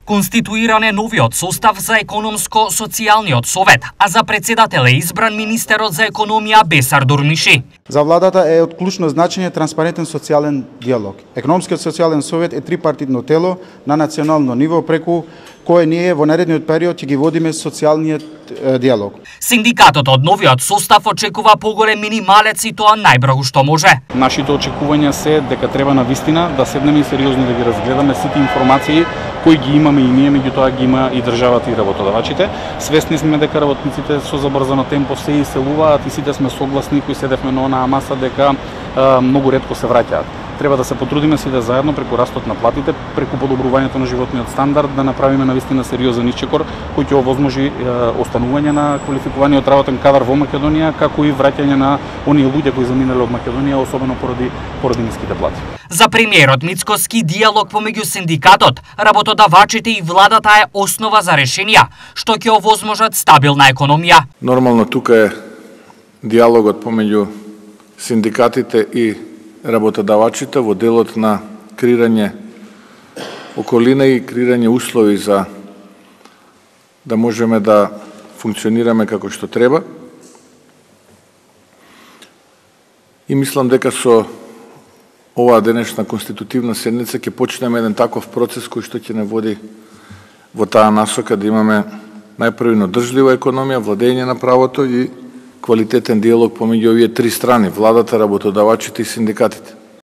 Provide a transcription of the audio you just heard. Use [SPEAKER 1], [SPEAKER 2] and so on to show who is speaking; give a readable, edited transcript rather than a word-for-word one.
[SPEAKER 1] Конституиран е новиот состав за економско-социјалниот совет, а за председател е избран министерот за економија Бесар Дурмиши.
[SPEAKER 2] За владата е од клучно значење транспарентен социјален диалог. Економскиот социјален совет е трипартитно тело на национално ниво преку кое ние во наредниот период ќе ги водиме социјалниот диалог.
[SPEAKER 1] Синдикатот од новиот состав очекува поголем минималец и тоа најбрзо што може.
[SPEAKER 3] Нашите очекувања се дека треба навистина да седнеме и сериозно да ги разгледаме сите информации кои ги имаме и ние, меѓутоа ги има и државата и работодавачите. Свесни сме дека работниците со забрзано темпо се иселуваат и сите сме согласни кои седевме на онаа маса дека многу ретко се враќаат. Треба да се потрудиме сите заедно преку растот на платите, преку подобрувањето на животниот стандард, да направиме навистина сериозен исчекор кој ќе овозможи останување на квалификуваниот работен кадар во Македонија, како и враќање на оние луѓе кои заминале од Македонија, особено поради ниските плати.
[SPEAKER 1] За премиерот Мицкоски диалог помеѓу синдикатот, работодавачите и владата е основа за решенија што ќе овозможат стабилна економија.
[SPEAKER 4] Нормално тука е диалогот помеѓу синдикатите и работодавачите во делот на креирање околина и креирање услови за да можеме да функционираме како што треба. И мислам дека со оваа денешна конститутивна седница ќе почнеме еден таков процес кој што ќе не води во таа насока да имаме најпрво одржлива економија, владење на правото и квалитетен диалог помеѓу овие три страни, владата, работодавачите и синдикатите.